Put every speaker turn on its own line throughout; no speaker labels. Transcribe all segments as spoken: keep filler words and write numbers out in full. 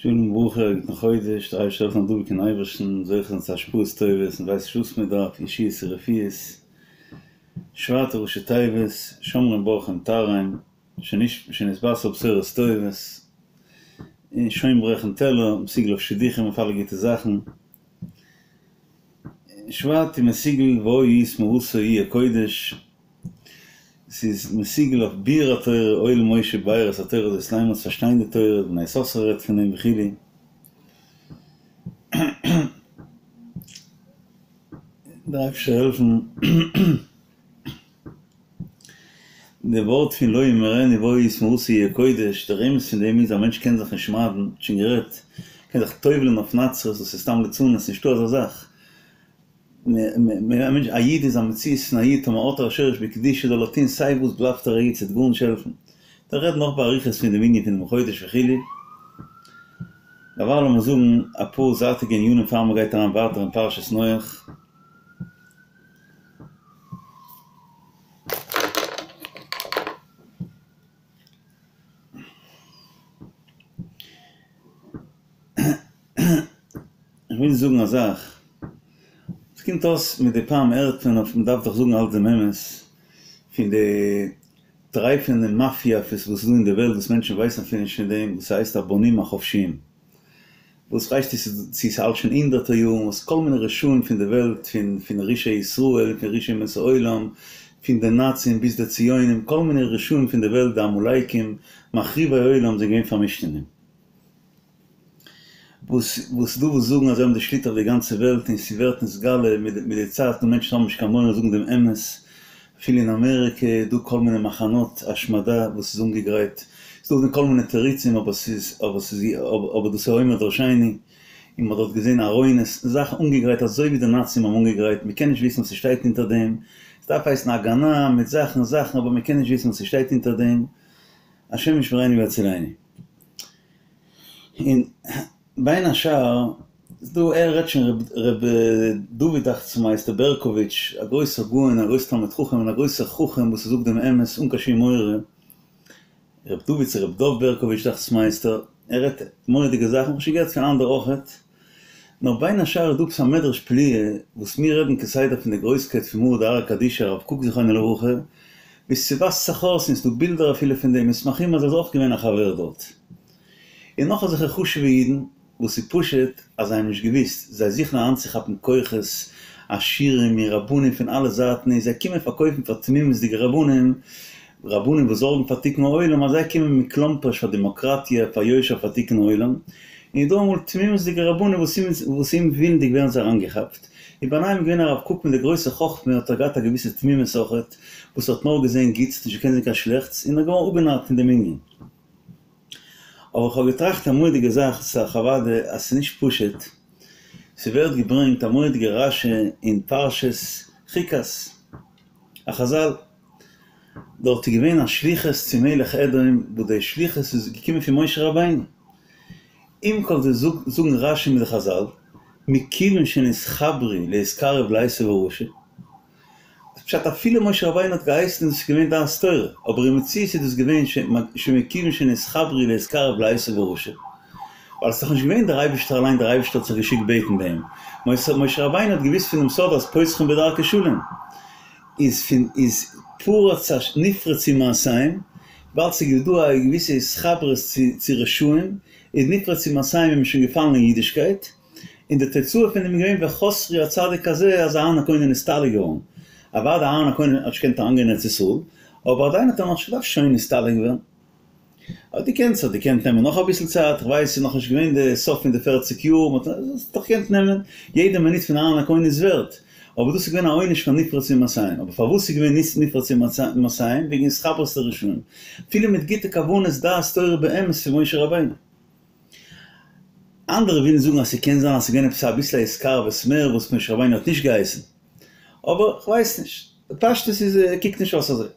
שלום וברכה, א גוטן חודש, דער אייבערשטער זאל העלפן דבוק אין אייבערשטן, זוכה זיין צו השפעות טובות, מען ווייסט נישט וואס מען דארף, ישועות ורפואות, שבט ראשי תיבות, שומרים בורחים תרעם, שנתבשר בשורות טובות, און שוין ברעכן טעלער, מסוגל אויף שידוכים אויף אלע גוטע זאכן, שבט איז מסוגל והיה איש מורתו יהיה קודש, ס'איז מסוגל אויף ביאור התורה, הואיל משה באר את התורה הזאת לאמר צו פארשטיין די תורה, בני יששכר רעדט פון דעם וכו'. דער אייבערשטער זאל העלפן די ווארט פון לא ימרני והיה איש מורתו יהיה קודש, דער רמז פון דעם איז א מענטש קען זיך נישט שמד'ן, שוין גערעדט, קען זיך טובל'ן אויף נצרות, דאס איז סתם ליצנות, נישטא אזא זאך. א איד איז א מציאות פון א איד, טאמער האט ער א שורש בקדושה זאל ער טון סיי וואס בלייבט ער א איד ס'וועט גארנישט העלפן. דער רעדט נאך באריכות פון דעם ענין פון דעם חודש וכו'. דערווייל לאמיר זאגן אפאר זייטיגע ענינים פאר מ'גייט אריין ווייטער אין פרשת נח. איך וויל זאגן א זאך, עס קומט אויס מדי פעם הערט מען אויף, מען דארף דאך זאגן אלץ דעם אמת, פון די טרייפענע מאפיא וואס איז דא אין די וועלט וואס מענטשן ווייסן אפילו נישט פון דעם, וואס הייסט הבונים החופשיים, וואס כ'ווייס נישט צו ס'האלט שוין הונדערטער יארן, וואס כל מיני רשעים פון די וועלט, פון פון רשעי ישראל, פון רשעי אומות העולם, פון די נאצים ביז די ציונים, כל מיני רשעים פון די וועלט, די עמלקים, מחריבי עולם זענען געווען פארמישט אין דעם. וואס וואס דא וואס זאגן אז זיי האבן די שליטה אויף די גאנצע וועלט און ס'ווערט נתגלה מיט די צייט און מענטשן האבן נישט קיין מורא זאגן דעם אמת, אפילו אין אמעריקע איז דא כל מיני מחנות השמדה וואס איז אנגעגרייט, ס'איז דא כל מיני תירוצים אבער ס'איז אבער ס'איז אבער דאס איז אומר דרשני, און מ'האט דארט געזען ארונות, זאכן אנגעגרייט אזוי ווי די נאצים האבן אנגעגרייט, מ'קען נישט וויסן וואס ס'שטייט אונטער דעם, ס'דארף הייסן הגנה מיט זאכן זאכן אבער מ'קען נישט וויסן וואס ס'שטייט אונטער דעם, השם ישמרינו ויצילנו. און בין השאר איז דא ער רעדט שוין ר' דוד דאכט זיך מיר הייסט ער בערקאוויטש א גרויסער גאון א גרויסער תלמיד חכם און א גרויסער חכם וואס ער זאגט דעם אמת אן קיין שום מורא, ר' דוד צו ר' דוב בערקאוויטש דאכט זיך מיר הייסט ער, ער רעדט מורא'דיגע זאכן, כ'האב שוין געהערט פון אנדערע אויכעט, נאר בין השאר איז דא עפעס א מדרש פליאה וואס מיר רעדן כסדר פון די גרויסקייט פון מרא דארעא קדישא הרב קוק זכרונו לברכה, ביז ס'ווייזט זיך אויס און ס'דא בילדער אפילו פון די מסמכים אז ער איז אויך געווען א חבר דארט. און נאך אזעלכע חשוב'ע אידן וואס איז פשוט אז זיי האבן נישט געוואוסט, זיי זוכן אריינצוכאפן כוחות עשירים און רבנים פון אלע זייטן און זיי קומען פארקויפן פאר תמימות'דיגע רבנים, רבנים וואס זארגן פאר תיקון העולם אז זיי קומען מכלומפערשט פאר דעמאקראטיע, פאר יושר, פאר תיקון העולם, און איז דא אמאל תמימות'דיגע רבנים וואס וואס אומווילנדיג ווערן זיי אריינגעכאפט, און ביניהם איז געווען הרב קוק מיט די גרויסע חכמה האט ער געהאט א געוויסע תמימות אויכעט וואס האט נאר געזען גוטס נישט געקענט זען קיין שלעכטס און ער איז געווארן אפגענארט פון דעם ענין. אבער איך האב געטראכט א מורא'דיגע זאך, ס'איז אוודאי אז ס'איז נישט פשוט, ס'ווערט געברענגט א מורא'דיגע רש"י אין פרשת חוקת, א חז"ל, דארט איז געווען א שליחות צו מלך אדום, וואס די שליחות איז געקומען פון משה רבינו, עם כל זה זאגן רש"י מיט די חז"ל, מכיוון שנתחברו להתקרב לעשו הרשע, פשט אפילו משה רבינו האט געהייסן איז עס געווען דעת תורה, אבער אין מציאות איז דאס געווען שמכיוון שנתחברו להתקרב לעשו הרשע, ווייל עס איז דאך נישט געווען דער אייבערשטער אליין דער אייבערשטער האט זיך געשיקט בעטן ביי אים, משה רבינו האט געוואוסט פונעם סוד אז פותחין בדרכי שלום איז פון איז פרץ נפרצו מעשיהם, וויבאלד ס'איז דא א געוויסע התחברות צו רשעים איז נפרצו מעשיהם איז מען שוין געפאלן אין אידישקייט. און די תוצאה פון דעם איז געווען וחסרו הצדיק הזה אז אהרן הכהן איז נסתלק געווארן. אוודאי אהרן הכהן האט נישט געקענט אריינגיין אין ארץ ישראל, אבער עדיין האט ער נאכנישט געדארפט שוין נסתלק ווערן. האט געקענט, ס'האט געקענט נעמען נאך אביסל צייט, כ'ווייס ס'איז נאכנישט געווען די סוף פון די פערציג יאר, מ'האט עס דאך געקענט נעמען, יעדע מינוט פון אהרן הכהן איז ווערט, אבער דאס איז געווען א עונש פאר נפרצו מעשיהם, אבער פארוואס איז געווען נפרצו מעשיהם? וועגן התחברות לרשעים, אפילו מיט גוטע כוונות דעת תורה באמת פון משה רבינו. אנדערע ווילן זאגן אז ס'קען זיין אז ס'איז געווען עפעס אביסל א התקרבות מער וואס משה רבינו האט נישט געהייסן, אבער כ'ווייס נישט, בפשטות איז קוקט נישט אויס אזוי.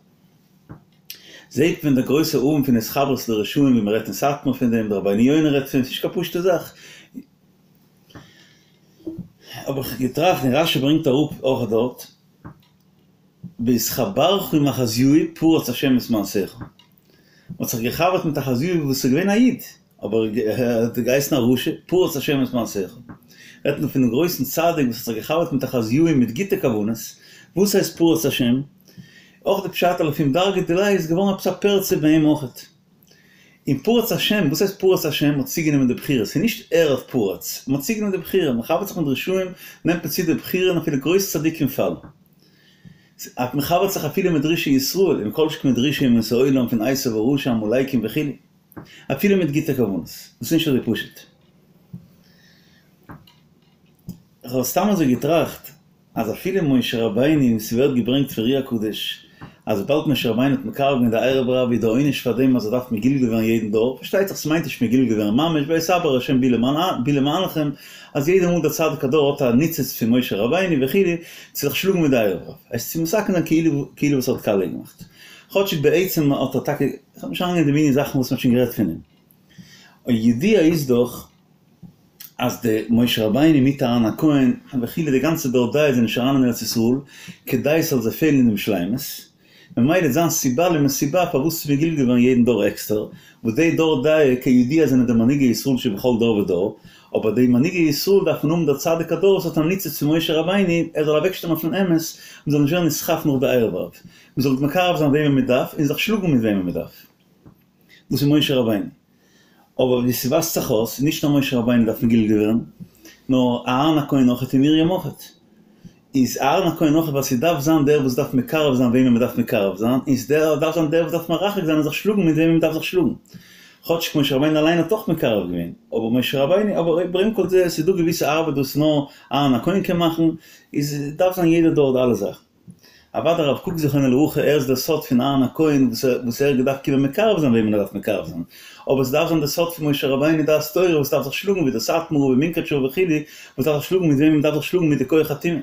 זעהט מען די גרויסע עוון פון התחברות לרשעים ווי מ'רעדט אין סאטמאר פון דעם, דער רבינו יונה רעדט פון דעם, ס'נישט קיין פשוטע זאך. האב איך געטראכט און רש"י ברענגט אראפ אויך דארט, בהתחברך עם אחזיהו פרץ השם את מעשיך. מ'האט זיך געחבר'ט מיט אחזיהו וואס איז געווען א איד. אבער ער האט געהייסן א רשע, פרץ השם את מעשיך. רעדט מען פונעם גרויסן צדיק וואס האט זיך געחבר'ט מיט אחזיהו מיט גוטע כוונות, וואס הייסט פרץ השם? אויך די פשט לפום דרגא דיליה איז געווארן עפעס א פרצה ביי אים אויכעט. און פרץ השם, וואס הייסט פרץ השם? מ'האט צוגענומען די בחירה, ס'איז נישט ער האט פרץ, מ'האט צוגענומען די בחירה, מ'חבר'ט זיך מיט רשעים, נעמט מען צו די בחירה און אפילו גרויסע צדיקים פאלן. מ'חבר'ט זיך אפילו מיט רשעי ישראל, און כל שכן מיט רשעי אומות העולם פון עשו הרשע עמלקים וכו', אפילו מיט גוטע כוונות. דאס איז נישט אזוי פשוט. איך האב סתם אזוי געטראכט אז אפילו משה רבינו ווי ס'ווערט געברענגט פון אר"י הקדוש אז וויבאלד משה רבינו האט מקרב געווען די ערב רב איז די עונש פאר דעם אז ער דארף מגולגל ווערן יעדן דור, פארשטייט זיך ס'מיינט נישט מגולגל ווערן ממש ויתעבר ה' בי למענכם אז יעדע מאל דער צדיק הדור האט א ניצוץ פון משה רבינו וכו' צו זיך שלאגן מיט די ערב רב עס צו מתקן זיין כאילו כאילו וואס ער האט קאליע געמאכט כאטשיג בעצם האט ער טאקע כ'וועל נישט אריינגיין אין די מיני זאכן וואס מ'האט שוין גערעדט פון אים און ידוע איז דאך אז די משה רבינו מיט אהרן הכהן וכו' די גאנצע דור דעה זענען נישט אריין אין ארץ ישראל כדי ס'זאל זיי פעלן אין דעם שלימות, ממילא איז זיין סיבה למסיבה פארוואס ס'איז מגולגל געווארן יעדן דור עקסטער, וואס די דור דעה כידוע זענען די מנהיגי ישראל שבכל דור ודור, אבער די מנהיגי ישראל דארפן האבן דער צדיק הדור וואס האט א ניצוץ פון משה רבינו ער זאל אוועקשטיין אויפן אמת און זאל נישט ווערן נסחף נאך די ערב רב, מ'זאל מקרב זיין וועמען מ'דארף און זיך שלאגן מיט וועמען מ'דארף. דאס איז משה רבינו. אבער ווי ס'ווייזט זיך אויס, נישט נאר משה רבינו דארף מגולגל ווערן, נאר אהרן הכהן אויכעט און מרים אויכעט. איז אהרן הכהן אויכעט ווייל ס'דארף זיין דער וואס דארף מקרב זיין וועמען מ'דארף מקרב זיין, און ס'דארף זיין דער וואס דארף מרחק זיין און זיך שלאגן מיט וועמען מ'דארף זיך שלאגן. כאטשיג משה רבינו אליין האט אויך מקרב געווען, אבער משה רבינו, אבער עם כל זה, ס'איז דא געוויסע ארבעט וואס נאר אהרן הכהן קען מאכן, איז דארף זיין יעדער דור די אלע זאכן. אוודאי הרב קוק זכרונו לברכה ער איז דער סוד פון אהרן הכהן וואס ער וואס ער האט געדארפט קומען מקרב זיין וועמען ער דארף מקרב זיין, אבער עס דארף זיין דער סוד פון משה רבינו דעת תורה וואס דארף זיך שלאגן ווי דער סאטמאר רב מונקאטשער וכו' וואס דארף זיך שלאגן מיט וועמען מען דארף זיך שלאגן מיט די כח הטומאה.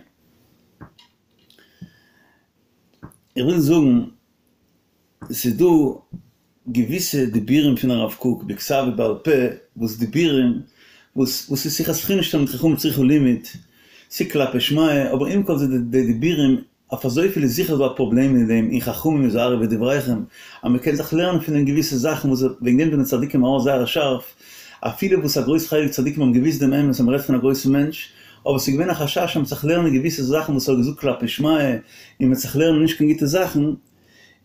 איך וויל זאגן ס'איז דא געוויסע דיבורים פון הרב קוק בכתב ובעל פה וואס דיבורים וואס וואס איז שיחת חולין שתלמיד חכם צריך לימוד, ס'איז כלפי שמיא, אבער עם כל זה די דיבורים אויף אזויפיל איז זיכער דא א פראבלעם אין דעם און חכמים הזהרו בדבריכם אז מ'קען זיך לערנען פון דעם געוויסע זאכן וואס וועגן דעם זענען צדיקים ארויס זייער שארף אפילו וואס א גרויס חלק צדיקים האבן געוויסט דעם אמת אז מ'רעדט פון א גרויסן מענטש אבער ס'איז געווען א חשש אז מ'וועט זיך לערנען געוויסע זאכן וואס ער האט געזאגט כלפי שמיא און מ'וועט זיך לערנען נישט קיין גוטע זאכן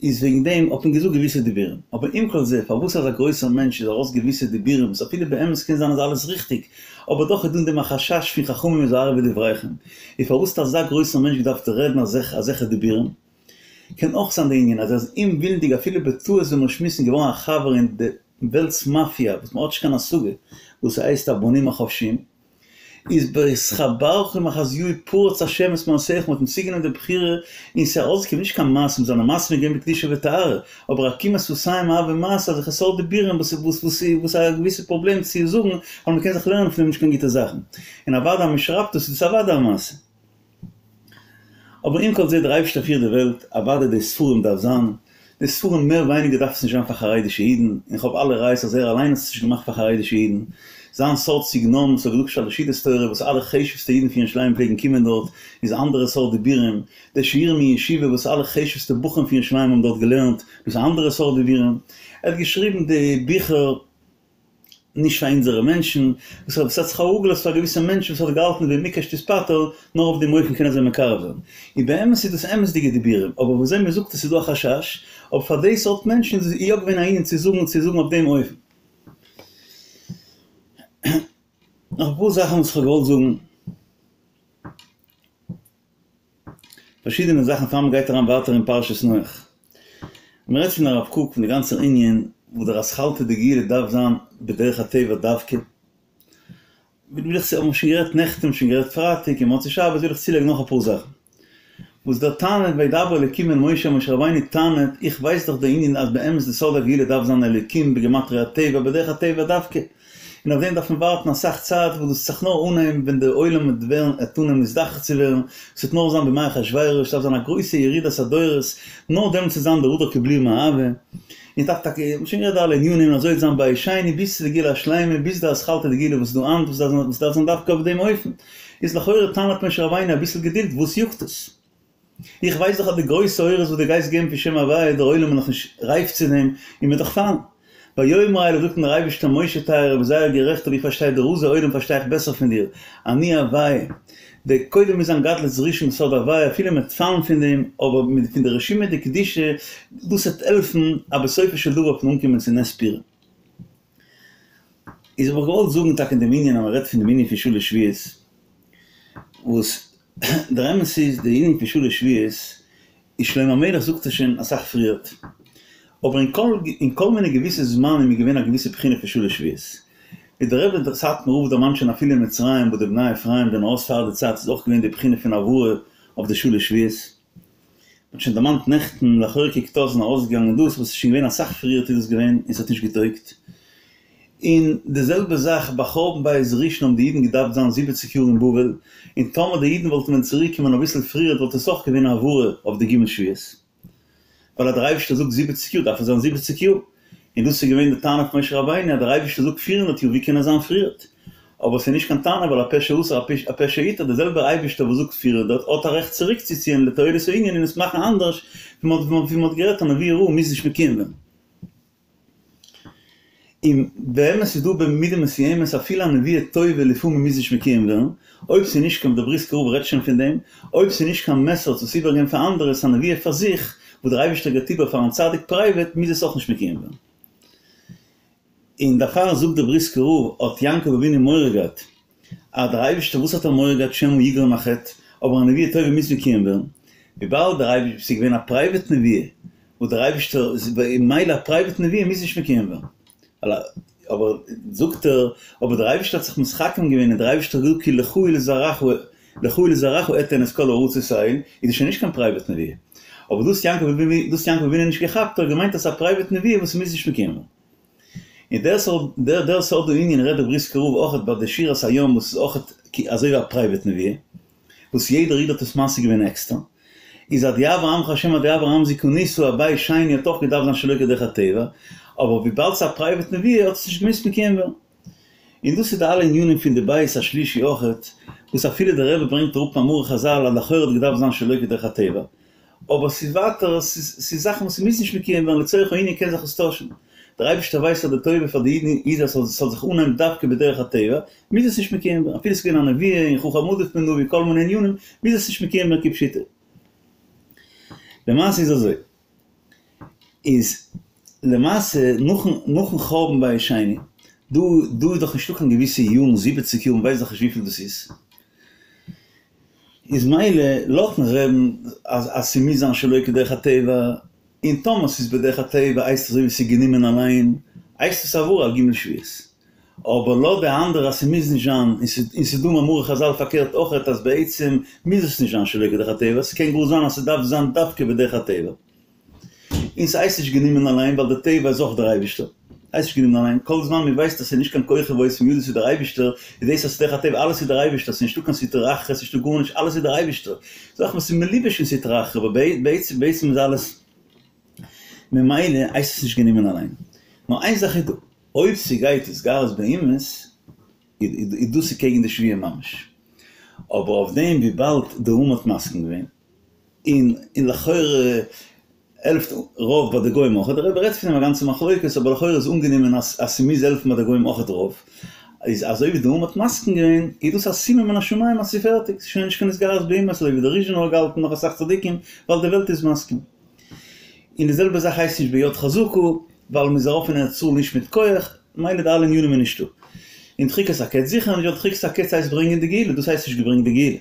איז וועגן דעם האט מען געזאגט געוויסע דיבורים, אבער עם כל זה פארוואס אזא גרויסער מענטש איז ארויס געוויסע דיבורים וואס אפילו באמת קען זיין אז אלעס ריכטיג, אבער דאך איז דא אין דעם א חשש פון חכמים הזהרו בדבריכם, איז פארוואס האט אזא גרויסער מענטש געדארפט רעדן אזעלכע דיבורים? קען אויך זיין די ענין אז ער איז אומווילנדיג אפילו בטעות ווי מיר שמועסן געווארן א חבר אין די וועלטס מאפיא וואס מען האט נישט קיין השגה וואס ס'הייסט הבנים החופשיים, איז בהתחברך עם אחזיהו פרץ השם את מעשיך מ'האט אים צוגענומען די בחירה און ס'איז ארויסגעקומען נישט קיין מעשים זיינע מעשים איז געווען בקדושה וטהרה אבער עקימת שפתיים הוה מעשה אזעלכע סארט דיבורים וואס וואס וואס וואס א געוויסע פראבלעם צו זאגן ווייל מ'קען זיך לערנען פון דעם נישט קיין גוטע זאכן און אוודאי אז מ'שרייבט דאס איז דאס אוודאי א מעשה. אבער עם כל זה דער אייבערשטער פירט די וועלט, אוודאי די ספרים דארף זיין, די ספרים מער ווייניגער דארף עס נישט זיין פאר חרדישע אידן, און איך האב אלע ראיות אז ער אליין האט עס נישט געמאכט פאר חרדישע אידן, זיין סארט סגנון וואס ער האט געזאגט שלש סעודות תורה וואס אלע חשובסטע אידן פון ירושלים פלעגן קומען דארט איז א אנדערע סארט דיבורים, די שיעורים אין ישיבה וואס אלע חשובסטע בחורים פון ירושלים האבן דארט געלערנט דאס איז א אנדערע סארט דיבורים, ער האט געשריבן די ביכער. נישט פאר אונזערע מענטשן, וואס האט זיך אראפגעלאזט פאר געוויסע מענטשן וואס האט געהאלטן במקש תתפטר, נאר אויף דעם אופן קען ער זיי מקרב זיין. און באמת איז דאס אמת'דיגע דיבורים, אבער ווי אזוי מען זאגט עס איז דא א חשש, אבער פאר די סארט מענטשן איז עס יא געווען א ענין צו זאגן צו זאגן אויף דעם אופן. נאך אפאר זאכן וואס איך האב געוואלט זאגן. פארשידענע זאכן פאר מ'גייט אריין ווייטער אין פרשת נח. מ'רעדט פון הרב קוק פון די גאנצע ענין וואס דער אתחלתא דגאולה דארף זיין בדרך הטבע דווקא. וויל איך האבן שוין גערעדט נעכטן שוין גערעדט פרייטאג און מוצאי שבת וויל איך צולייגן נאך אפאר זאכן. וואס דער טענה וידבר אלוקים אל משה משה רבינו טענה'ט איך ווייס דאך די ענין אז באמת די סוד הגאולה דארף זיין אלוקים בגימטריא הטבע בדרך הטבע דווקא. און אויף דעם דארף מען ווארטן אסאך צייט וואס דאס וועט זיך נאר אנהייבן ווען דער עולם וועט ווערן וועט אנהייבן נזדכך צו ווערן, עס וועט נאר זיין בימי אחשורוש, עס דארף זיין א גרויסע ירידת הדורות, נאר דעמאלטס וועט זיין דער הדר קבלוה מאהבה, און דארף טאקע, מ'האט שוין גערעדט די אלע ענינים, אזוי וועט זיין בית שני ביז צו די גאולה השלימה, ביז די אתחלתא דגאולה וואס איז דא היינט, וואס דארף זיין דווקא אויף דעם אופן, איז לכאורה טענה'ט משה רבינו אביסל געדולד, וואס יאגט עס? איך ווייס דאך אז די גרויסע אורות וואס דו גייסט געבן פון שם הוויה, דער עולם איז נאכנישט רייף צו דעם, און מ'וועט דאך פאלן. ויאמר אליו זאגט אים דער אייבערשטער משה טייערער ביסט זייער גערעכט אבער איך פארשטיי די רזי עולם פארשטיי איך בעסער פון דיר, אני הוויה, די קודם מוז זיין גדלות ראשון סוד הוויה אפילו מ'וועט פאלן פון דעם אבער מיט פון די רשימה דקדושה דאס וועט העלפן אז בסופו של דבר וועט מען אנקומען צו נס פורים. איז האב איך געוואלט זאגן טאקע אין דעם ענין אז מען רעדט פון דעם ענין פון שלש שבועות וואס דער אמת איז די ענין פון שלש שבועות איז שלמה המלך זאגט עס שוין אסאך פריערט, אבער אין כל אין כל מיני געוויסע זמנים איז געווען א געוויסע בחינה פון שלש שבועות, ווי דער רבי דער סאטמאר רב דערמאנט שוין אפילו אין מצרים וואו די בני אפרים זענען ארויס פאר די צייט איז אויך געווען די בחינה פון העברה אויף די שלש שבועות, מען האט שוין דערמאנט נעכטן לכאורה קוקט אויס זענען ארויסגעגאנגען דאס וואס איז שוין געווען אסאך פריערט איז דאס געווען און ס'האט נישט געטויגט, און די זעלבע זאך ביי חורבן בית ראשון האבן די אידן געדארפט זיין זיבעציק יאר אין בבל, און טאמער די אידן וואלטן ווען צוריק געקומען אביסל פריערט וואלט עס אויך געווען א העברה אויף די ג' שבועות. ווייל אז דער אייבערשטער זאגט זיבעציק יאר דארף עס זיין זיבעציק יאר. און דאס איז געווען די טענה פון משה רבינו אז דער אייבערשטער זאגט פיר הונדערט יאר ווי קען עס זיין פריערט? אבער עס איז נישט קיין טענה ווייל הפה שאסר הפה שהתיר דער זעלבער אייבערשטער וואס זאגט פיר הונדערט האט א רעכט צוריקצוציען לתועלת הענין און עס מאכן אנדערש ווי מען האט גערעדט א נבואה רעה מוז נישט מקוים ווערן. און באמת איז דא במידה מסוימת אפילו א נבואה טובה לפעמים מוז נישט מקוים ווערן, אויב ס'איז נישט קיין, דער בריסקער רב רעדט שוין פון דעם, אויב ס'איז נישט קיין מסר צו עס איבערגעבן פאר אנדערע, ס'איז א נבואה פאר זיך, וואס דער אייבערשטער געבט איבער פארן צדיק פרייוועט, מוז עס אויך נישט מקוים ווערן. און דערפאר זאגט דער בריסקער רב, האט יעקב אבינו מורא געהאט אז דער אייבערשטער וואס האט ער מורא געהאט שמא יגרום החטא, אבער א נבואה טובה מוז מקוים ווערן, וויבאלד דער אייבערשטער, ס'איז געווען א פרייוועט נבואה, וואס דער אייבערשטער, ממילא א פרייוועט נבואה מוז נישט מקוים ווערן, אבער זאגט ער, אבער דער אייבערשטער האט זיך מתחכם געווען און דער אייבערשטער האט געזאגט כי לך ולזרעך לך ולזרעך אתן את כל הארצות האלה, איז דאס שוין נישט קיין פרייוועט נבואה. אבער דאס יעקב אבינו, דאס יעקב אבינו נישט געכאפט, ער האט געמיינט אז ס'איז א פרייוועט נבואה וואס מוז נישט מקוים ווערן. און דער סארט דער דער סארט ענין רעדט דער בריסקער רב אויכעט ביי די שירת הים וואס איז אויכעט אזוי ווי א פרייוועט נבואה וואס יעדער איד האט עס משיג געווען עקסטער איז עד יעבור עמך השם עד יעבור עם זו קנית א בית שני האט אויך געדארפט זיין שלא כדרך הטבע אבער וויבאלד ס'איז א פרייוועט נבואה האט עס נישט געמוזט מקוים ווערן. און דאס איז די אלע ענינים פון די בית השלישי אויכעט וואס אפילו דער רבי ברענגט אראפ מאמרי חזל אז לכאורה האט געדארפט זיין שלא כדרך הטבע אבער ס'איז ווייטער, ס'איז זאכן וואס מוז נישט מקוים ווערן, לצורך הענין קען זיך עס טוישן. דער אייבערשטער ווייסט אז די טובה פאר די אידן איז אז ס'זאל זיך אנהייבן דווקא בדרך הטבע, מוז עס נישט מקוים ווערן, אפילו ס'איז געווען א נבואה און חכם עדיף מנביא כל מיני ענינים, מוז עס נישט מקוים ווערן כפשוטו. למעשה איז אזוי, איז למעשה נאכן נאכן חורבן בית שני, דא דא איז דאך נישטא קיין געוויסע יארן, זיבעציק יאר, מ'ווייסט דאך נישט וויפיל דאס איז, איז מילא לויטן רבי'ן אז אז ס'מוז זיין שלא כדרך הטבע, און טאמער ס'איז בדרך הטבע הייסט אזוי ווי ס'איז גענומען אליין, הייסט עס העברה על ג' שבועות. אבער לויט די אנדערע אז ס'מוז נישט זיין, און ס'איז דא מאמרי חזל פארקערט אויכעט אז בעצם מוז עס נישט זיין שלא כדרך הטבע, ס'קען גאר זיין אז ס'דארף זיין דווקא בדרך הטבע. און ס'הייסט נישט גענומען אליין ווייל די טבע איז אויך דער אייבישטער. הייסט נישט גענומען אליין, כל זמן מען ווייסט אז ס'איז נישט קיין כוחי ועוצם ידי ס'איז דער אייבישטער, איז דאס אז ס'דרך הטבע אלעס איז דער אייבישטער, ס'איז נישטא קיין סטרא אחרא ס'נישטא גארנישט אלעס איז דער אייבישטער, זאכן וואס איז מלובש אין סטרא אחרא אבער בעצם בעצם איז אלעס ממילא הייסט עס נישט גענומען אליין. נאר איין זאך איז דא, אויב ס'גייט התגרות באומות איז דאס איז קעגן די שבועה ממש, אבער אויף דעם וויבאלד די האומה האט מסכים געווען, און און לכאורה העלפט רוב ביי די גוים אויכעט, דער רבי רעדט פון דעם א גאנצע מחלוקת, אבער לכאורה איז אנגענומען אז אז ס'מוז העלפן ביי די גוים אויכעט רוב, איז אזוי ווי די האומה האט מסכים געווען, איז דאס א סימן מן השמים אז ס'איז פערטיג, ס'איז שוין נישט קיין התגרות באומות אזוי ווי דער ריזשינער האט געהאלטן נאך אסאך צדיקים, ווייל די וועלט איז מסכים. און די זעלבע זאך הייסט נישט ביד חזקה, ווייל מ'איז ארויף אין ארץ ישראל נישט מיט כח, מילא די אלע ענינים איז נישטא. און דחיקת הקץ זיכער נישט, ווייל דחיקת הקץ הייסט ברענגען די גאולה, דאס הייסט נישט געברענגט די גאולה.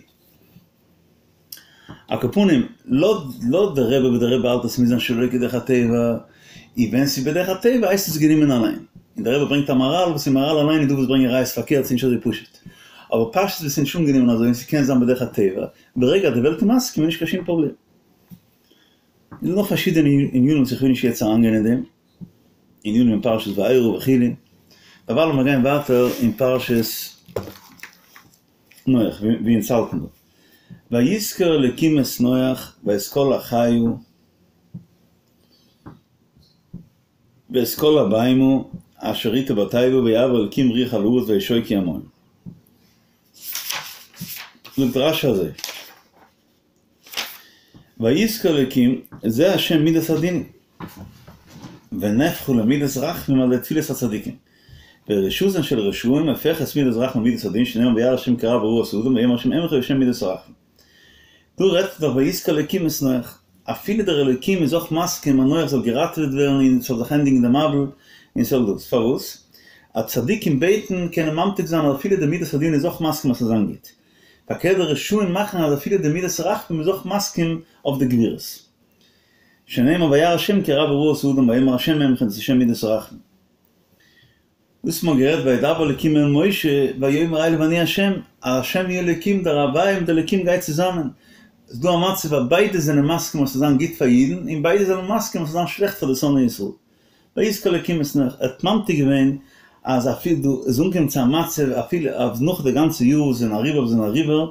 על כל פנים, לויט די רבי וואס די רבי האלט אז ס'מוז זיין שלא כדרך הטבע, און ווען ס'איז בדרך הטבע הייסט עס גענומען אליין. און די רבי ברענגט א מהר"ל וואס אין מהר"ל אליין איז דא וואס ברענגען ראיות פארקערט ס'איז נישט אזוי פשוט. אבער פשטות וואס איז נישט אנגענומען אזוי און ס'קען זיין בדרך הטבע, ברגע אז די וועלט איז מסכים איז נישט קיין שום פראבלעם. און דא נאך פארשידענע ענינים וואס איך וויל נישט יעצט אריינגיין אין דעם, ענינים אין פרשת וארא וכו', דערווייל לאמיר גיין ווייטער אין פרשת נח, ווי אונז האלטן דא. ויזכר אלקים את נח ואת כל החיה ואת כל הבהמה אשר אתו בתיבה ויעבר אלקים רוח על הארץ וישכו המים. זאגט רש"י אזוי, ויזכר אלקים, זה השם מידת הדין. ונהפכו למידת רחמים על ידי תפילת הצדיקים. ורשעותן של רשעים הופכת מידת רחמים למידת הדין שנאמר וירא השם כי רב רעת האדם ויאמר השם אמחה בשם מידת הרחמים. דא רעדט דאך ויזכור אלוקים את נח, אפילו דער אלוקים איז אויך מסכים אז נח זאל געראטעוועט ווערן און ס'זאל זיך ענדיגן די מבול און ס'זאל דאס, פארוואס? אז צדיקים בעטן קענען ממתיק זיין אז אפילו די מידת הדין איז אויך מסכים אז ס'זאל זיין גוט. פארקערט די רשעים מאכן אז אפילו די מידת הרחמים איז אויך מסכים אויף די גבורות. שנאמר וירא השם כי רבה רעת האדם ויאמר השם אמחה דאס איז שם מידת הרחמים. דאס האט מען גערעדט וידבר אלקים אל משה ויאמר אליו אני השם, אז השם הוא אלקים דער הוויה מיט אלקים גייט צוזאמען, ס'איז דא א מצב אז ביידע זענען מסכים אז ס'זאל זיין גוט פאר אידן און ביידע זענען מסכים אז ס'זאל זיין שלעכט פאר די שונאי ישראל. ויזכור אלקים את נח, ער האט ממתיק געווען אז אפילו דא איז אנגעקומען צו א מצב אפילו אז נאך די גאנצע יאר וואס זענען אריבער וואס זענען אריבער,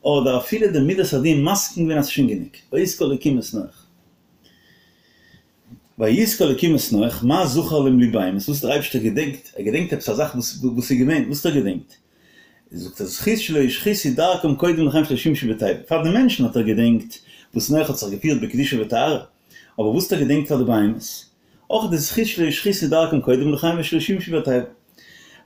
האט דער אפילו די מידת הדין מסכים געווען אז ס'איז שוין גענוג. ויזכור אלקים את נח. ויזכור אלקים את נח, מה זכר לבהמות, וואס האט דער אייבערשטער געדענקט, ער געדענקט עפעס א זאך וואס איז געווען, וואס האט ער געדענקט? זאגט ער זכות שלא השחיתו דרכם קודם לכן שלא שימשו בתיבה, פאר די מענטשן האט ער געדענקט וואס נח האט זיך געפירט בקדושה וטהרה, אבער וואס האט ער געדענקט פאר די בהמות? אויך די זכות שלא השחיתו דרכם קודם לכן ושלא שימשו בתיבה.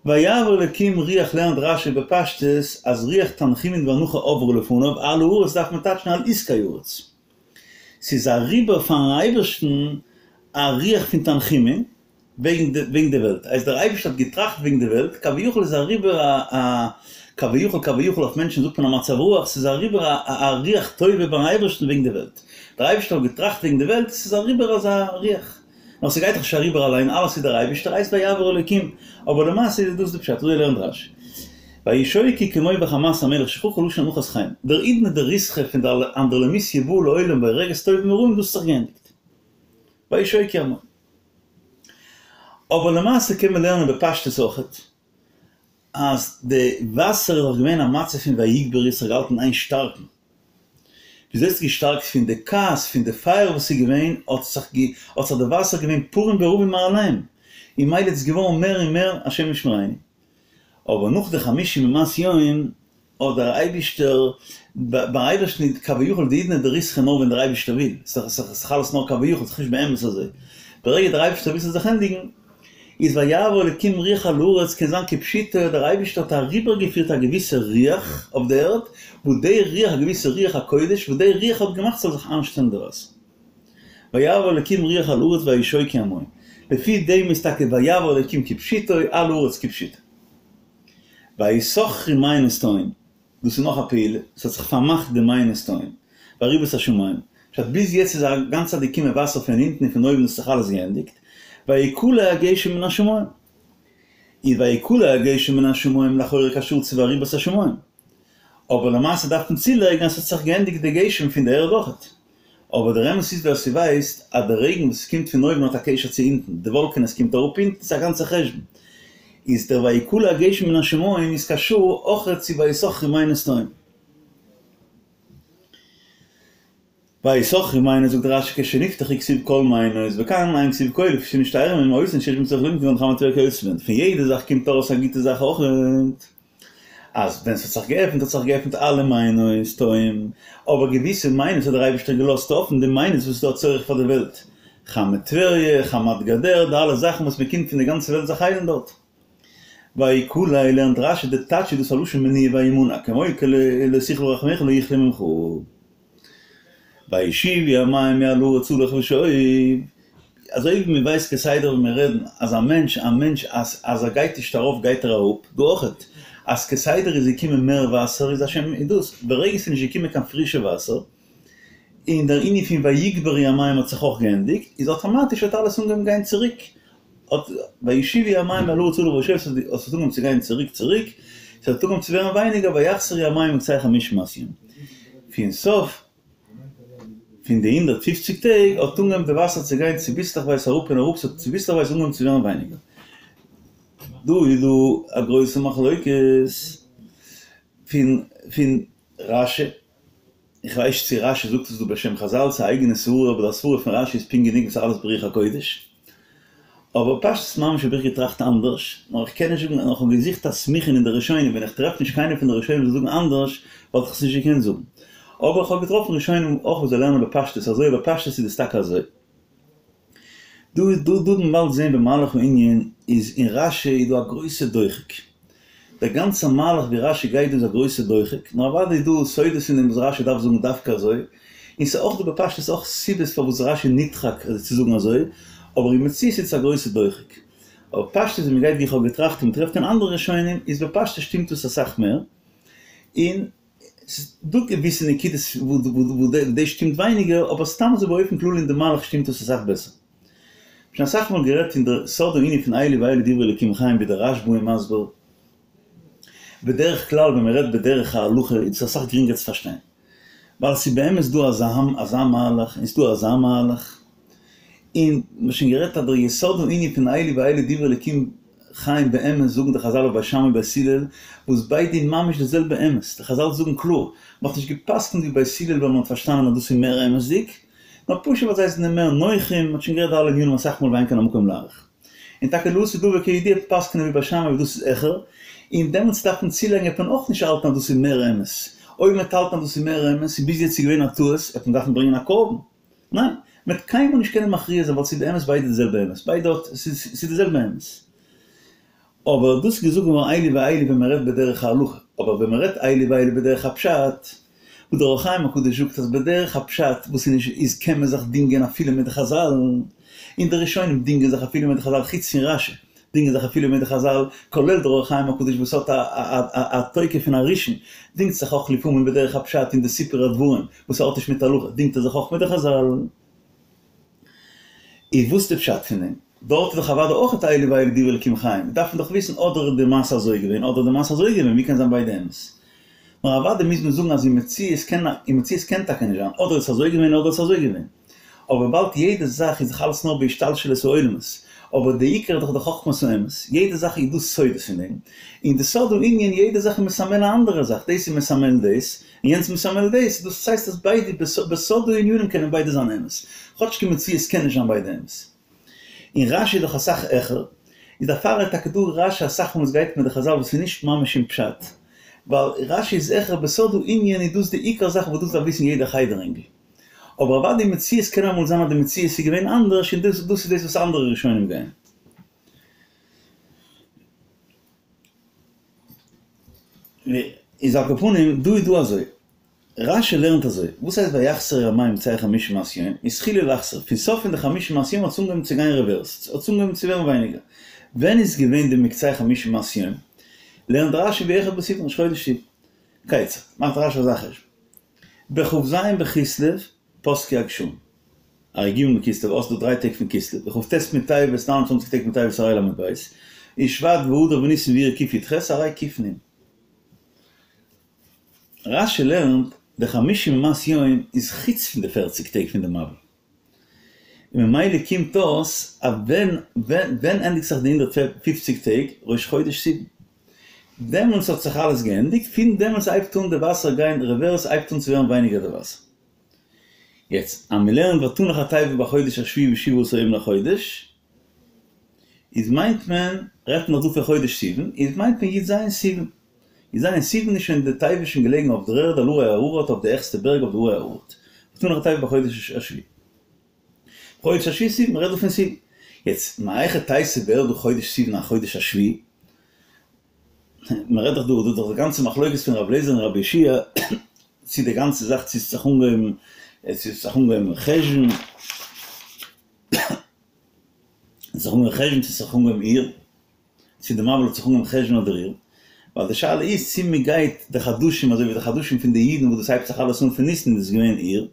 ויעבור אלקים רוח לערנט רשי בפשטות אז רוח תנחומין ואנחה עברה לפניו על הארץ דארף מען טייטשן על עסקי הארץ. ס'איז אריבער פארן אייבערשטן א רוח פון תנחומין וועגן וועגן די וועלט, אז דער אייבערשטער האט געטראכט וועגן די וועלט, כביכול איז אריבער א א כביכול כביכול אויף מענטשן זאגט מען א מצב רוח, ס'איז אריבער א א רוח טובה ביים אייבערשטן וועגן די וועלט, דער אייבערשטער האט געטראכט וועגן די וועלט, ס'איז אריבער אזא רוח, נאר ס'גייט דאך נישט אריבער אליין, אלעס איז דער אייבערשטער, הייסט ויעבור אלוקים, אבער למעשה איז דאס די פשט, אזוי לערנט רשי. וישוקו כמו בחמת המלך שככה לשון אנחת חיים, דער עידנא דריתחא פון די אנדרלמוסיא באה לעולם והורגת טובים ורעים דאס האט זיך געענדיגט. וישוקו המים. אבער למעשה קען מען לערנען בפשטות אויכעט אז די וואסער איז דאך געווען א מצב פון ויגברו ס'האט געהאלטן איין שטארקן. וויאזוי האט עס געשטארקט פון די כעס פון די פייער וואס איז געווען האט זיך האט זיך די וואסער געווען פרים ורבים מעליהם און מילא איז עס געווארן מער און מער השם ישמרינו. אבער נאך די חמישים ומאת יום האט דער אייבישטער, ביים אייבערשטן איז כביכול די עידנא דריתחא נאר ווען דער אייבישטער וויל, ס'איז דאך אלעס נאר כביכול, ס'איז נישט באמת אזוי, ברגע דער אייבישטער וויל ס'זאל זיך ענדיגן, איז ויעבור אלקים רוח על הארץ קען זיין כפשוטו, דער אייבישטער האט אריבערגעפירט א געוויסע רוח אויף די ערד, וואס די רוח, א געוויסע רוח הקודש, וואס די רוח האט געמאכט ס'זאל זיך איינשטעלן די וואסער. ויעבור אלקים רוח על הארץ וישוקו המים. לפי דעם איז טאקע ויעבור אלקים כפשוטו, על הארץ כפשוטו. ויסכרו מעיינות תהום, דאס איז נאך א פעולה, עס האט זיך פארמאכט די מעיינות תהום, ואריבות השמים, פשט ביז יעצט איז א גאנצע צייט געקומען וואסער פון אונטן און פון אויבן דאס האט זיך אלעס געענדיגט, ויכלא הגשם מן השמים, איז ויכלא הגשם מן השמים לכאורה קשור צו ואריבות השמים, אבער למעשה דארף מען צולייגן אז עס האט זיך געענדיגט די גשם פון די ערד אויכעט. אבער דער אמת איז ווער ס'ווייסט אז די רעגן וואס קומט פון אויבן האט א קשר צו אונטן, די וואלקענעס קומט אראפ אונטן, ס'איז א גאנצע חשבון. איז דער ויכלא הגשם מן השמים איז קשור אויכעט צו ויסכרו מעיינות תהום. ויסכרו מעיינות זאגט רשי כשנפתחו כתיב כל מעיינות וכאן אין כתיב כל לפי שנשתיירו מהם אותן שיש בהן צורך ללמוד כגון חמת טבריה וכיוצא בהן פון יעדע זאך קומט ארויס א גוטע זאך אויכעט. אז ווען ס'האט זיך געעפנט האט זיך געעפנט אלע מעיינות תהום, אבער געוויסע מעיינות האט דער אייבערשטער געלאזט אפן, די מעיינות וואס איז דא א צורך פאר די וועלט, חמת טבריה, חמת גדר, די אלע זאכן וואס מ'קומט פון די גאנצע וועלט זיך היילן דארט. ויכלא לערנט רשי די טייטש איז דאס א לשון מניעה וימנע, כמו לא תכלה רחמיך לא יכלה ממך. וישובו המים מעל הארץ הלוך ושוב, אזוי ווי מען ווייסט כסדר ווען מיר רעדן אז א מענטש א מענטש אז אז ער גייט נישט ארויף גייט ער אראפ, דא אויכעט אז כסדר איז געקומען מער וואסער איז השם איז דאס, ברגע ס'איז נישט געקומען קיין פרישע וואסער, און דער ענין פון ויגברו המים האט זיך אויך געענדיגט, איז אטאמאטיש האט אלעס אנגעהויבן גיין צוריק, האט וישובו המים מעל הארץ הלוך ושוב האט עס אנגעהויבן צו גיין צוריק צוריק, ס'האט אנגעהויבן צו ווערן ווייניגער ויחסרו המים מקצה חמשים ומאת יום. פון סוף פון די הונדערט פופציג טעג האט אנגעהויבן די וואסער צו גיין צוביסלעכווייז אראפ און אראפ, ס'האט צוביסלעכווייז אנגעהויבן צו ווערן ווייניגער. דא איז דא א גרויסע מחלוקת פון פון רשי. איך ווייס נישט צו רשי זאגט עס דא בשם חזל צו א אייגענע סברה אבער די סברה פון רשי איז פונקט גענוג וואס אלעס ברוח הקודש. אבער פשטות ממש האב איך געטראכט אנדערש, נאר איך קען נישט זאגן, נאר איך האב געזוכט א סמיכה אין די ראשונים, ווען איך טרעף נישט קיינער פון די ראשונים זאל זאגן אנדערש וואלט איך עס נישט געקענט זאגן. אבער איך האב געטראפן ראשונים אויך וואס זיי לערנען בפשטות אזוי, בפשטות איז עס טאקע אזוי. דא דא דא וועט מען באלד זעהן במהלך הענין איז אין רשי איז דא א גרויסע דוחק. דער גאנצער מהלך ווי רשי גייט דא איז א גרויסע דוחק, נאר אוודאי איז דא סודות אין דעם וואס רשי דארף זאגן דווקא אזוי, און ס'איז אויך דא בפשטות אויך סיבות פארוואס רשי נדחק אזוי צו זאגן אזוי, אבער אין מציאות איז עס א גרויסע דוחק. אבער פשטות ווי מ'גייט ווי איך האב געטראכט און מ'טרעפט אין אנדערע ראשונים איז בפשטות שטימט עס אסאך מער, און ס'איז דא געוויסע נקודות וואו דאס שטימט ווייניגער, אבער סתם אזוי באופן כללי אין די מהלך שטימט עס אסאך בעסער. שוין אסאך מאל גערעדט אין די סוד הענין פון אלו ואלו דברי אלוקים חיים ווי דער רשב"א איז מסביר. בדרך כלל ווען מען רעדט בדרך ההלכה איז עס אסאך גרינגער צו פארשטיין. ווייל ס'איז באמת דא אזא אזא מהלך און ס'איז דא אזא מהלך. און מ'האט שוין גערעדט אז דער יסוד הענין פון אלו ואלו דברי אלוקים חיים באמת זאגן די חזל אויף בית שמאי ובית הלל וואס ביידע איז ממש די זעלבע אמת, די חזל זאגן קלאר, מ'האט נישט גע'פסק'נט ווי בית הלל ווייל מ'האט פארשטאנען אז דאס איז מער אמת'דיג, נאר פשוט ווייל זיי זענען מער נוחים, מ'האט שוין גערעדט די אלע ענינים אסאך מאל ואין כאן המקום להאריך. און טאקע לעתיד לבא כידוע פסק'נען ווי בית שמאי וואס דאס איז העכער, און דעמאלטס דארף מען צולייגן וועט מען אויך נישט האלטן אז דאס איז מער אמת, אויב מ'וועט האלטן אז דאס איז מער אמת און ביז יעצט איז געווען א טעות וועט מען דארפן ברענגען א קרבן. ניין, מען וועט קיינמאל נישט קענען מכריע זיין ווייל ס'איז באמת ביידע די זעלבע אמת, ביידע האט, ס'איז די זעלבע אמת. אבער דאס איז געזאגט געווארן אלו ואלו ווען מען רעדט בדרך ההלכה, אבער ווען מען רעדט אלו ואלו בדרך הפשט, וואס דער אור החיים הקדוש זאגט אז בדרך הפשט וואס איז נישט איז קען מען זיך דינגען אפילו מיט די חזל, און די ראשונים דינגען זיך אפילו מיט די חזל חוץ פון רשי דינגען זיך אפילו מיט די חזל, כולל דער אור החיים הקדוש וואס האט א תוקף פון א ראשון, דינגט זיך אויך לפעמים בדרך הפשט אין די סיפור הדברים וואס האט נישט מיט הלכה דינגט ער זיך אויך מיט די חזל. איז וואס די פשט פון דעם? דארט איז דאך אוודאי אויך אלו ואלו דברי אלקים חיים, דארף מען דאך וויסן אדער איז די מעשה אזוי געווען אדער די מעשה אזוי געווען, ווי קען זיין ביידע אמת? נאר אוודאי מוז מען זאגן אז אין מציאות קען אין מציאות קען טאקע נישט זיין אדער איז עס אזוי געווען אדער איז עס אזוי געווען. אבער וויבאלד יעדע זאך איז דאך אלעס נאר בהשתלשלות העולמות, אבער די עיקר איז דאך די חכמת האמת, יעדע זאך איז דא סודות אין דעם, און די סוד הענין יעדע זאך איז מסמל א אנדערע זאך, דאס איז מסמל דאס, און יענץ מסמל דאס, דאס הייסט אז ביידע בסוד הענינים קענען ביידע זיין אמת, כאטש אין מציאות קען נישט זיין ביידע אמת. און רשי איז דאך אסאך העכער, איז דערפאר איז טאקע דא רשי אסאך מאל וואס גייט מיט די חזל וואס איז נישט ממש אין פשט, ווייל רשי איז העכער בסוד הענין איז דאס די עיקר זאך וואס דאס דארף וויסן יעדער חדר אינגל. אבער אוודאי אין מציאות קען אמאל זיין אז די מציאות איז געווען אנדערש און דאס דאס איז דאס וואס אנדערע ראשונים גייען. איז על כל פנים דא איז דא אזוי, רשי לערנט אזוי, וואס הייסט ויחסרו המים מקצה חמישים ומאת יום, התחילו לחסור, פון סוף פון די חמישים ומאת יום האט עס אנגעהויבן צו גיין רעווערס, האט עס אנגעהויבן צו ווערן ווייניגער. ווען איז געווען די מקצה חמישים ומאת יום? לערנט רשי באחד בסיוון ראש חודש סיוון. כיצד? מאכט רשי אזא חשבון. בכ"ז בכסלו פסקו הגשמים. הרי ג' בכסלו האסט דא דריי טעג פון כסלו, בכ"ט בטבת נײַן און צוואַנציק טעג פון טבת הרי ל"ב, און שבט ואדר וניסן ואייר קי"ח הרי ק"נ. רש"י לערנט די חמישים ומאת יום איז חוץ פון די פערציג טעג פון די מבול. און ממילא קומט אויס אז ווען ווען ענדיגט זיך די הונדערט פֿופֿציק טעג? ראש חודש סיוון. דעמאלטס האט זיך אלעס געענדיגט, פון דעמאלטס הייבט אן די וואסער גיין רעווערס, הייבט אן צו ווערן ווייניגער די וואסער. יעצט אז מען לערנט ותנח התיבה בחודש השביעי בשבעה עשר יום לחודש, איז מיינט מען, רעדט מען דאך דא פון חודש סיוון, איז מיינט מען י"ז סיוון. י"ז סיוון איז שוין די תיבה שוין געלעגן אויף דער ערד על הרי אררט אויף די העכסטע בערג אויף די הרי אררט. ותנח התיבה בחודש השביעי. חודש השביעי סיוון, מ'רעדט דא פון סיוון. יעצט, מהיכי תיתי ווערט דא חודש סיוון א חודש השביעי? מ'רעדט דאך דא, דא איז דאך די גאנצע מחלוקת פון רבי אליעזר און רבי יהושע צו די גאנצע זאך צו ס'האט זיך אנגעהויבן, צו ס'האט זיך אנגעהויבן חשון, זיך אנגעהויבן חשון צו ס'האט זיך אנגעהויבן אייר. צו די מבול האט זיך אנגעהויבן חשון אדער אייר, ווייל די שאלה איז צו מען גייט די חדשים אזוי ווי די חדשים פון די אידן וואס דאס הייבט זיך אלעס אן פון ניסן איז עס געווען אייר,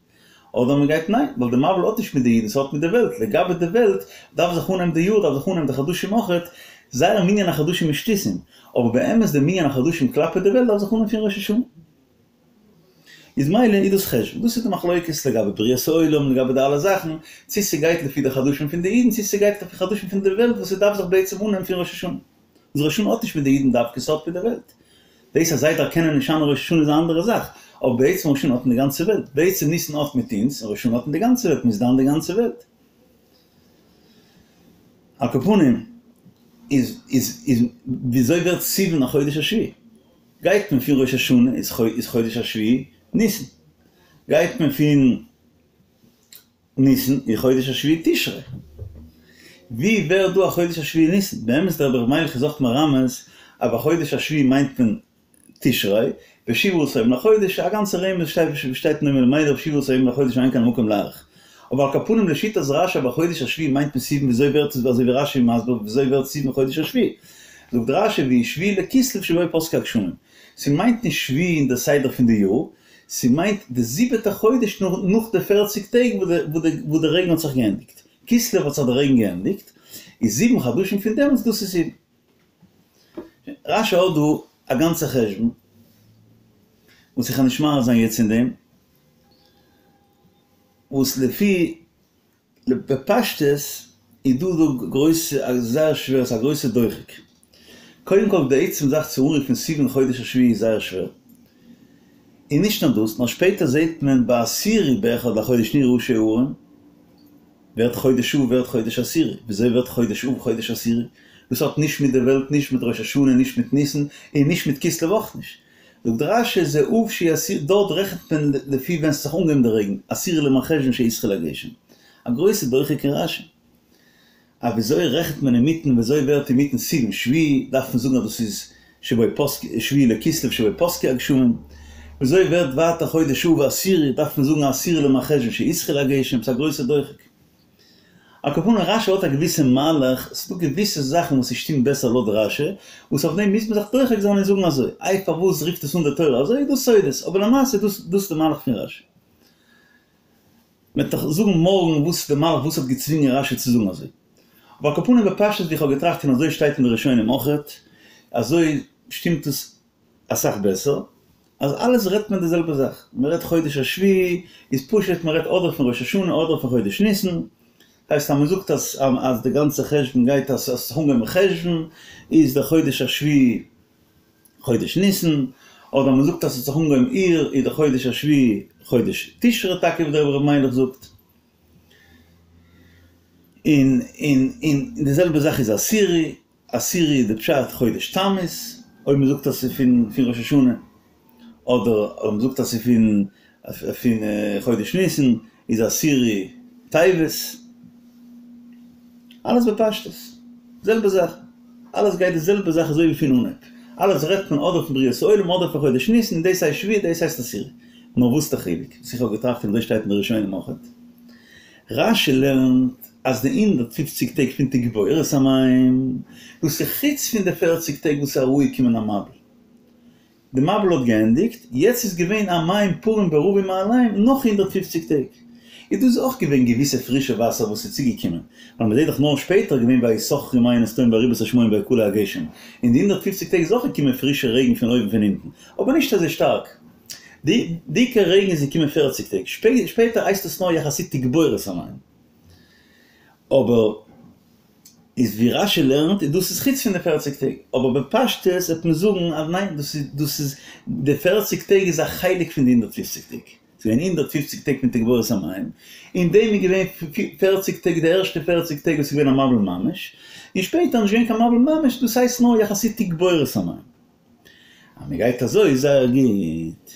אדער מען גייט ניין, ווייל די מבול האט נישט מיט די אידן ס'האט מיט די וועלט, לגבי די וועלט דארף זיך אנהייבן די יאר דארף זיך אנהייבן די חדשים אויכעט, זייער מנין החדשים איז שטותים, אבער באמת די מנין החדשים כלפי די וועלט דארף זיך אנהייבן פון ראש השנה. איז מילא איז דאס חשון, דאס איז די מחלוקת לגבי בריאת העולם, לגבי די אלע זאכן, צו ס'גייט לפי די חדשים פון די אידן, צו ס'גייט לפי חדשים פון די וועלט וואס ס'דארף זיך בעצם אנהייבן פון ראש השנה. וואס ראש השנה האט נישט מיט די אידן דווקא, ס'האט מיט די וועלט. דאס אז זיי דערקענען נישט אן ראש השנה איז א אנדערע זאך, אבער בעצם ראש השנה האט מיט די גאנצע וועלט, בעצם ניסן האט מיט אונז, און ראש השנה האט מיט די גאנצע וועלט, מ'איז דן די גאנצע וועלט. על כל פנים, איז איז איז וויאזוי ווערט סיוון א חודש השביעי? גייט מען פון ראש השנה איז חודש השביעי ניסן, גייט מען פון ניסן איז חודש השביעי תשרי, ווי ווערט דא החודש השביעי ניסן? באמת דער רבי ר' מיילעך איז אויך מרמז אז בחודש השביעי מיינט מען תשרי, ושבעה עשר יום לחודש, א גאנצע רמז שטייט שטייט אין דעם רבי ר' מיילעך שבעה עשר יום לחודש ואין כאן המקום להאריך. אבער על כל פנים לשיטת רשי בחודש השביעי מיינט מען סיוון וויאזוי ווערט עס אזוי ווי רשי איז מסביר וויאזוי ווערט סיוון חודש השביעי? זאגט רשי והוא שביעי לכסלו שבו פסקו הגשמים. ס'מיינט נישט שביעי אין די סדר פון די יאר, ס'מיינט די זיבעטע חודש נאך די פערציג טעג וואס די רעגן האט זיך געענדיגט. כסלו האט זיך די רעגן געענדיגט, איז זיבן חדשים פון דעמאלטס דאס איז סיוון. רשי האט דא א גאנצע חשבון, וואס איך וועל נישט מאריך זיין יעצט אין דעם, וואס לפי בפשטות איז דא דא גרויסע זייער שווער ס'איז א גרויסע דוחק. קודם כל די עצם זאך צו אנרופן סיוון חודש השביעי איז זייער שווער. און נישט נאר דאס, נאר שפעטער זעט מען בעשירי באחד לחודש נראו ראשי ההרים, ווערט חודש אב ווערט חודש עשירי, וויאזוי ווערט חודש אב חודש עשירי? דאס האט נישט מיט די וועלט נישט מיט ראש השנה נישט מיט ניסן און נישט מיט כסלו אויך נישט. זאגט רשי זה אב שהוא עשירי דארט רעכנט מען לפי ווען ס'האט זיך אנגעהויבן די רעגן, עשירי למרחשוון שהתחיל הגשם. א גרויסע דוחק אין רשי. א וויאזוי רעכנט מען אינמיטן וויאזוי ווערט אינמיטן סיוון שביעי דארף מען זאגן אז דאס איז שבו פסקו שביעי לכסלו שבו פסקו הגשמים. וויאזוי ווערט ווייטער חודש אב עשירי דארף מען זאגן עשירי למרחשוון שהתחיל הגשם ס'איז א גרויסע דוחק. על כל פנים רשי האט א געוויסע מהלך, ס'איז דא געוויסע זאכן וואס ס'שטימט בעסער לויט רשי, וואס אויף דעם מוז מען זיך דוחק זיין און זאגן אזוי, איי פארוואס רופט עס אן די תורה אזוי, איז דא סודות, אבער למעשה איז דאס דאס די מהלך פון רשי. מ'וועט דאך זאגן מארגן וואס איז די מהלך וואס האט געצווינגען רשי צו זאגן אזוי. אבער על כל פנים בפשטות ווי איך האב געטראכט און אזוי שטייט אין די ראשונים אויכעט, אזוי שטימט עס אסאך בעסער, אז אלעס רעדט מען די זעלבע זאך, מען רעדט חודש השביעי איז פשוט מען רעדט אדער פון ראש השנה אדער פון חודש ניסן, הייסט אז מען זאגט אז אז די גאנצע חשבון גייט אז עס האט זיך אנגעהויבן חשוון איז דער חודש השביעי חודש ניסן, אדער מען זאגט אז עס האט זיך אנגעהויבן אייר איז דער חודש השביעי חודש תשרי טאקע ווי דער רבי ר' מיילעך זאגט. און און און די זעלבע זאך איז עשירי, עשירי איז די פשט חודש תמוז, אויב מען זאגט אז ס'איז פון פון ראש השנה, אדער אויב מען זאגט אז ס'איז פון פון חודש ניסן, איז עשירי טבת. אלעס בפשטות, זעלבע זאך, אלעס גייט די זעלבע זאך אזוי ווי פון אנהייב, אלעס רעדט מען אדער פון בריאת העולם אדער פון חודש ניסן, און דאס הייסט שביעי דאס הייסט עשירי. נאר וואס איז די חילוק? וואס איך האב געטראכט און אזוי שטייט אין די ראשונים אויכעט. רשי לערנט אז די הונדערט פופציג טעג פון תגבורת המים, דאס איז חוץ פון די פערציג טעג וואס איז אראפגעקומען א מבול. די מבול האט געענדיגט, יעצט איז געווען א מים פרים ורבים מאליהם נאך הונדערט פופציג טעג. איז דאס אויך געווען געוויסע פרישע וואסער וואס איז צוגעקומען, ווייל מ'זעט דאך נאר שפעטער געווען ויסכרו מעיינות תהום וירבו את השמיים ויכלא הגשם, אין די הונדערט פופציג טעג איז אויך געקומען פרישע רעגן פון אויבן פון אונטן, אבער נישט אזוי שטארק. די עיקר רעגן איז געקומען פערציג טעג שפעטער הייסט עס נאר יחסית תגבורת המים. אבער איז ווי רשי לערנט איז דאס איז חוץ פון די פערציג טעג, אבער בפשטות וועט מען זאגן אז ניין דאס איז דאס איז די פערציג טעג איז א חלק פון די הונדערט פופציג טעג, ס'איז געווען הונדערט פופציג טעג פון תגבורת המים, אין דעם איז געווען פערציג טעג די ערשטע פערציג טעג וואס איז געווען א מבול ממש, און שפעטער איז נישט געווען קיין מבול ממש דאס הייסט נאר יחסית תגבורת המים. אז מען גייט אזוי איז זייער גוט.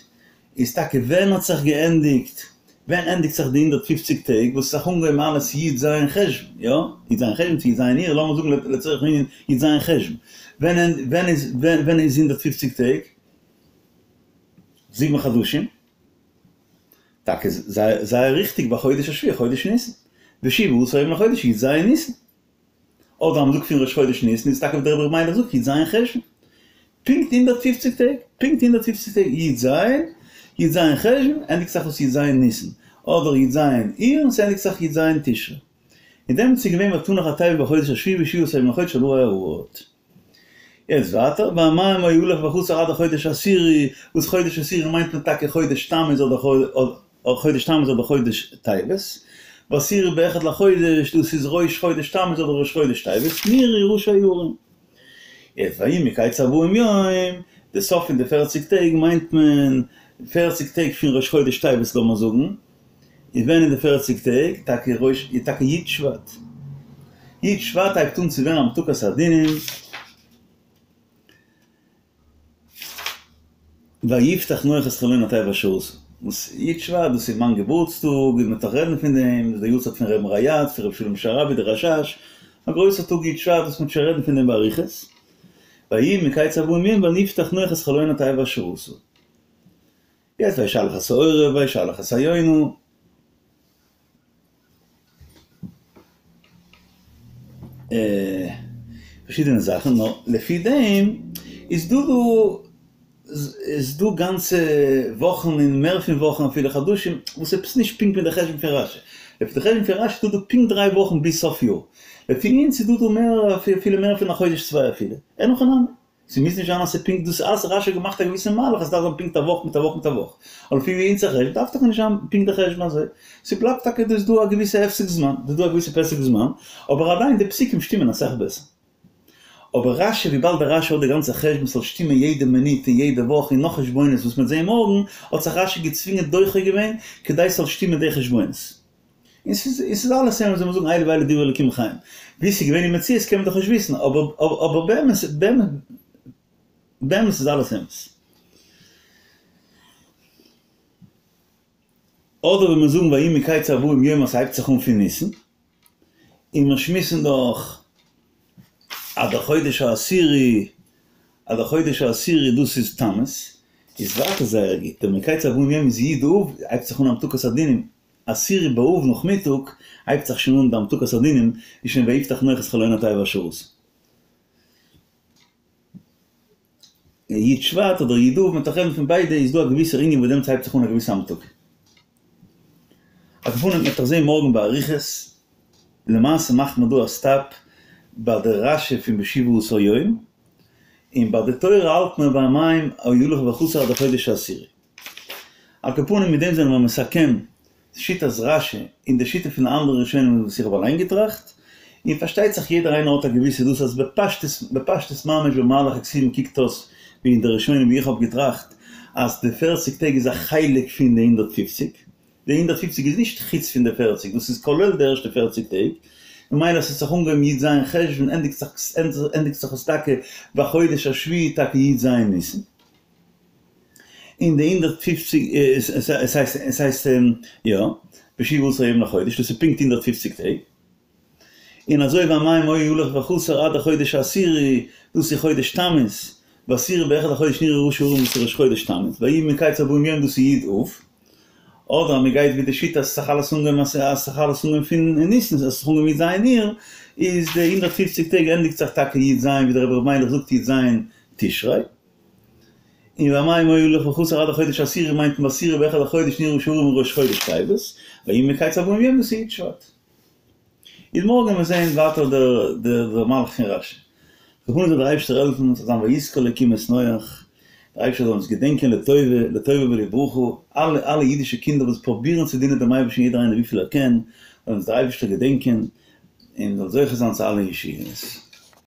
איז טאקע ווען האט זיך געענדיגט? ווען ענדיגט זיך די הונדערט פֿופֿציק טעג וואס האט זיך אנגעהויבן אלעס י ז חשוון, יא? י ז חשוון צו י ז אייר, לאמיר זאגן לצורך הענין י ז חשוון, ווען ווען איז ווען איז הונדערט פֿופֿציק טעג? זיבן חדשים? טאקע זייער זייער ריכטיג בחודש השביעי חודש ניסן, ושבעה עשר יום לחודש י ז ניסן. אדער אז מ'זאגט פון ראש חודש ניסן איז טאקע ווי דער רבי ר' מיילעך זאגט י ז חשוון. פונקט הונדערט פֿופֿציק טעג, פונקט הונדערט פֿופֿציק טעג י ז, י ז חשוון ענדיגט זיך אויס י ז ניסן, אדער י ז אייר און ס'ענדיגט זיך י ז תשרי. און דעמאלטס איז געווען ותנח התיבה בחודש השביעי בשבעה עשר יום לחודש על הר אררט. יעצט ווייטער, והמים היו הלוך וחזור עד החודש העשירי, וואס חודש עשירי מיינט מען טאקע חודש תמוז אדער חודש תמוז אדער חודש טבת, בעשירי באחד לחודש, דאס איז ראש חודש תמוז אדער ראש חודש טבת, נראו ראשי ההרים. יעצט ויהי מקץ ארבעים יום, די סוף פון די פערציג טעג מיינט מען פערציג טעג פון ראש חודש טבת לאמיר זאגן, איז ווען איז די פערציג טעג? טאקע ראש איז טאקע י' שבט. י' שבט הייבט אן צו ווערן המתקת הדינים. ויפתח נח את חלון התיבה אשר עשה. וואס י' שבט דאס איז מיין געבורטסטאג, און מ'וועט נאך רעדן פון דעם, דאס איז די יארצייט פון רבי'ן ריי"צ, פון רבי שלום שרעבי דער רש"ש, א גרויסער טאג י' שבט וואס מ'וועט שוין רעדן פון דעם באריכות. ויהי מקץ ארבעים יום ונפתח נח את חלון התיבה אשר עשה. יעצט וישלח את העורב וישלח את היונה. פארשידענע זאכן, נאר לפי דעם איז דא דא איז דא גאנצע וואכן און מער פון וואכן אפילו חדשים וואס עפעס נישט פונקט מיט די חשבון פון רשי. לפי די חשבון פון רשי איז דא דא פונקט דריי וואכן ביז סוף יאר. לפי אונז איז דא דא מער אפילו מער פון א חודש צוויי אפילו. אין הכי נמי. ס'מוז נישט זיין אז ס'איז פונקט דאס אז רשי האט געמאכט א געוויסע מהלך אז ס'דארף זיין פונקט א וואך מיט א וואך מיט א וואך. אבער לפי ווי אונזער חשבון דארף טאקע נישט זיין פונקט די חשבון אזוי. ס'בלייבט טאקע דא איז דא א געוויסע הפסק זמן, דא איז דא א געוויסע פסק זמן, אבער עדיין די פסוקים שטימען אסאך בעסער. אבער רשי וויבאלד דער רשי האט די גאנצע חשבון ס'זאל שטימען יעדע מינוט און יעדע וואך און נאך חשבונות וואס מ'וועט זעהן מארגן, האט זיך רשי געצווינגען דוחה געווען כדי ס'זאל שטימען די חשבונות. און ס'איז און ס'איז אלעס אמת ווי מיר זאגן אלו ואלו דברי אלקים חיים. ווי ס'איז געווען אין מציאות קען מען דאך נישט וויסן, אבער אבער באמת באמת באמת איז אלעס אמת. אדער ווען מיר זאגן ויהי מקץ ארבעים יום אז ס'הייבט זיך אן פון ניסן, און מיר שמועסן דאך אז דער חודש העשירי, אז דער חודש העשירי דאס איז תמוז, איז ווייטער זייער גוט, דער מקץ ארבעים יום איז י' אב, הייבט זיך אן המתקת הדינים, עשירי באב נאכמיטאג הייבט זיך שוין אן די המתקת הדינים, איז שוין ויפתח נח את חלון התיבה אשר עשה. י' שבט אדער י' אב, מ'וועט דאך רעדן פון ביידע, איז דא א געוויסער ענין וואס דעמאלטס הייבט זיך אן א געוויסע המתקה. על כל פנים מ'וועט דאך זעהן מארגן באריכות, למעשה מאכט מען דא א סטאפ ביי די רשי פון בשבעה עשר יום, און ביי די תורה האלט מען והמים היו הלוך וחסר עד החודש העשירי. על כל פנים מיט דעם זענען מיר מסכם שיטת רשי און די שיטה פון די אנדערע ראשונים וואס איך האב אליין געטראכט, און פארשטייט זיך יעדער איינער האט א געוויסע דאס אז בפשטות בפשטות ממש במהלך הכתובים קוקט אויס ווי אין די ראשונים ווי איך האב געטראכט אז די פערציג טעג איז א חלק פון די הונדערט פופציג, די הונדערט פופציג איז נישט חוץ פון די פערציג דאס איז כולל די ערשטע פערציג טעג, ממילא ס'האט זיך אנגעהויבן י ז חשוון ענדיגט זיך ענדיגט זיך עס טאקע בחודש השביעי טאקע י ז ניסן. און די הונדערט פֿופֿציק עס הייסט עס הייסט יא בשבעה עשר יום לחודש דאס איז פונקט הונדערט פֿופֿציק טעג און אזוי והמים היו הלוך וחסר עד החודש העשירי דאס איז חודש תמוז בעשירי באחד לחודש נראו ראשי ההרים דאס איז ראש חודש תמוז ויהי מקץ ארבעים יום דאס איז י' אב אדער אז מען גייט ווי די שיטה אז עס האט זיך אלעס אנגעהויבן אז עס האט זיך אלעס אנגעהויבן פון ניסן עס האט זיך אנגעהויבן י ז אייר איז די הונדערט פֿופֿציק טעג ענדיגט זיך טאקע י ז ווי דער רבי ר' מיילעך זאגט י ז תשרי. און והמים היו הלוך וחסר עד החודש העשירי מיינט מען בעשירי באחד לחודש נראו ראשי ההרים ראש חודש טבת, ויהי מקץ ארבעים יום דאס איז י' שבט. איז מארגן וועלן מיר זעהן ווייטער דער מהלך פון רשי. על כל פנים זאל דער אייבערשטער העלפן ס'זאל זיין ויזכור אלקים את נח, דער אייבערשטער זאל אונז געדענקען לטובה, לטובה ולברכה, אלע אלע אידישע קינדער וואס פרובירן צו דינען דעם אייבערשטן יעדער איינער וויפיל ער קען, זאל אונז דער אייבערשטער געדענקען און זאל זוכה זיין צו אלע ישועות.